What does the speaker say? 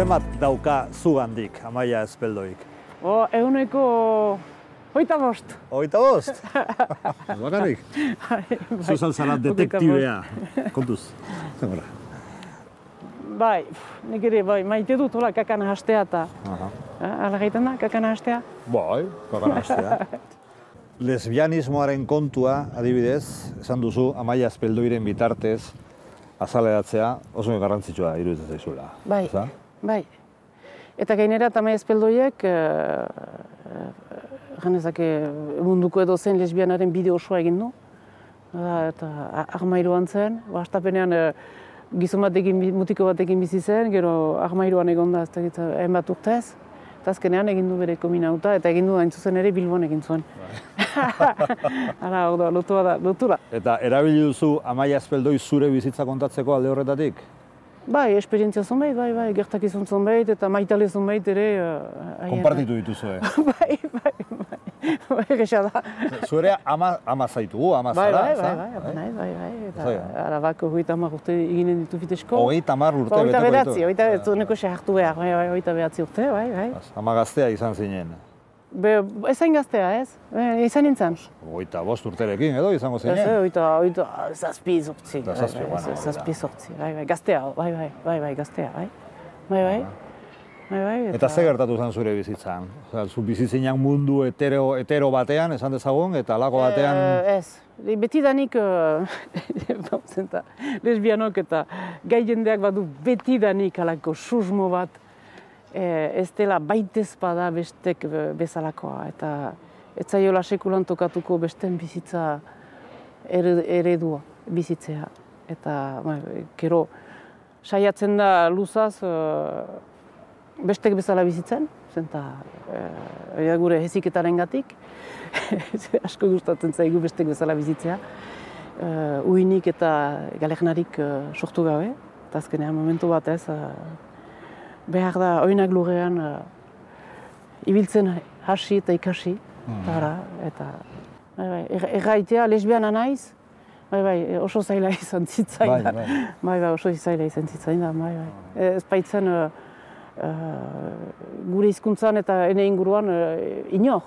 Zenbat dauka zugandik, Amaia Espeldoik? Eguneko 25. 25? Bakarrik? Zuzal zara detektibea, kontuz. Zemora? Bai, nik ere, bai, maite dut hola kakana hastea eta... Hala gaiten da, kakana hastea? Bai, kakana hastea. Lesbianismoaren kontua, adibidez, esan duzu, Amaia Espeldoiren bitartez, azaleratzea oso garrantzitsua iruditzen zaizuela. Bai, bai. Eta gainera, Amaia Espeldoiek, janezake munduko edo zen lesbianaren bide osoa egin du. Eta armairuan zen, hastapenean gizon batekin, mutiko batekin bizi zen, gero armairuan egon da, ez da hainbat urtez. Eta azkenean egin du bere kominauta, eta egin du hain zuzen ere Bilbon egin zuen. Hala, lotura. Eta erabili duzu Amaia Espeldoi zure bizitza kontatzeko alde horretatik? Bai, esperientzia zonbait, bai, gertakizun zonbait, eta maitale zonbait ere... Konpartitu dituzue. Bai, egesa da. Zuere ama zaitugu, ama zara, ez? Bai. Eta arabako 30 urte eginen ditu fitesko. 30 urte beteko ditu? 29 hartu behar, 29 urte, bai. Ama gaztea izan zinen? Ezain gaztea, ez? Izan nintzen. 25 urterekin edo izango zinen? Ez, 7 zortzi. Zazpi zortzi, bai, gaztea, bai, gaztea, bai. Eta ze gertatu zen zure bizitzan? Zu bizitzean mundu hetero batean, esan dezagun, eta alako batean... Ez, betidanik lesbianok eta gai jendeak badu betidanik alako susmo bat, ez dela baitezpada bestek bezalakoa, eta ez zaiola sekulan tokatuko besten bizitza eredua bizitzea. Eta gero saiatzen da luzaz bestek bezala bizitzen, zenta gure heziketaren gatik, asko gustatzen zaigu bestek bezala bizitzea, uinik eta galernarik sortu gabe, eta azkenean momentu batez, behar da oinak lurrean ibiltzen hasi eta ikasi, eta erraitea lesbiana naiz, oso zaila izan zitzaidan. Oso zaila izan zitzaidan, ez baitzen gure hizkuntzan eta ene inguruan inor.